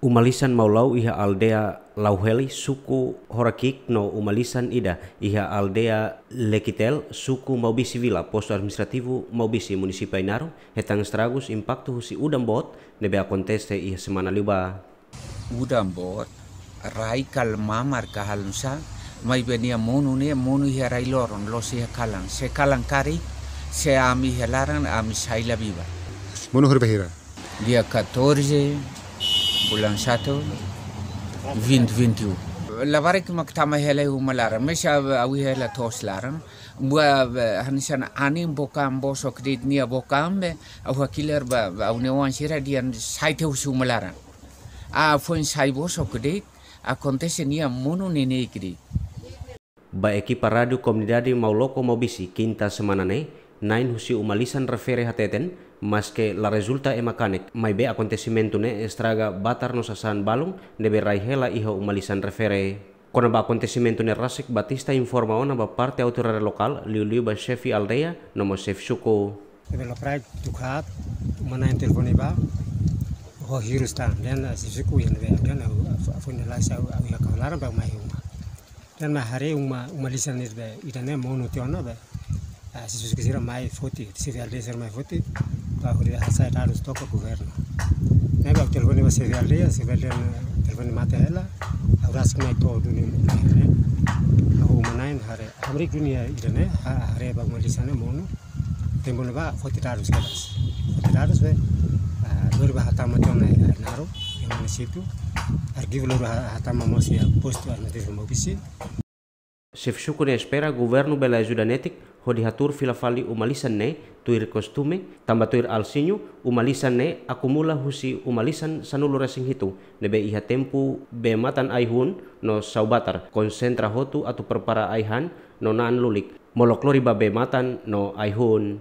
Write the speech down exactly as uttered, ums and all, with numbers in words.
Uma lisan mau la'o iha aldeia Lauheli, suku Horakiik, no uma lisan ida iha aldeia Lekitel, suku Maubisi Vila, postu administrativu Maubisi, munisípiu Ainaro, hetan estragus impaktu husi udan boot ne'ebé akontese iha semana liubá. Udan boot, rai ka mamar ka halo nusá, maibé nia monu ne'e monu iha rai-loron, la'ós iha kalan. Se kalan karik, se ami iha laran, ami sai la viva. Monu horibainhira? Dia catorze, bulan satu, vinte vinte e um. Labarik mak tama hela iha uma laran, maibé ha'u iha hela to'os laran. Buat, eh, hanesan anin book an bosok de'it, nia book an be, ha'u hakilar ba, ba ha'u-nia oan sira dehan sai tiha husi uma laran. Ah, foin sai bosok de'it, akontese nia monu neineik de'it. Ba ekipa Rádiu Komunidade Mauloko Maubisi, kinta semana ne'e, na'in husi uma lisan refere hateten, maske la rezulta ema kanek, maibé akontesimentu ne'e estraga batar no sasán balun ne'ebé rai hela iha uma lisan refere. Kona-ba akontesimentu ne'e rasik, Batista informa ona ba parte autoridade lokál, liuliu ba xefe aldeia no mós xefe suku. Ne'ebé lokraik tuku haat, uma na'in telefone ba, ho hirus tan, dehan, ah, xefe suku iha ne'ebé, dehan, ah, ah, foin la'o sa, ah, iha kau laran ba mai uma. Dehan mai haree uma, uma lisan ne'ebé ida-ne'e monu tiha ona be. Ah, xefe suku sira mai foti, xefe aldeia sira mai foti, ba hodi hasai dadus to'o governu. Ne'ebé ha'u telefone ba xefe aldeia, xefe aldeia ne'e telefone mate hela, ha'u rasik mai to'o duni ne'e. Ha'u uma na'in haree, hamriik duni iha ida-ne'e, ha-, haree ba uma lisan ne'e monu. Tempu ne'ebá foti dadus kedas. Foti dadus be, ah, lori ba hatama tiha ona iha Ainaro, iha munisípiu. Arkivu lori ha-, hatama mós iha postu administrativu Maubisi. Xefe suku ne'e espera governu bele ajuda netik hodi hatuur fila fali uma lisan ne'e tuir kostume, tanba tuir Alciño, uma lisan ne'e akumula husi uma lisan sanulu-resin-hitu ne'ebé iha tempu bee-matan ai-hun no sa'e batar, konsentra hotu atu prepara ai-han no na'an lulik, molok lori ba bee-matan no ai-hun.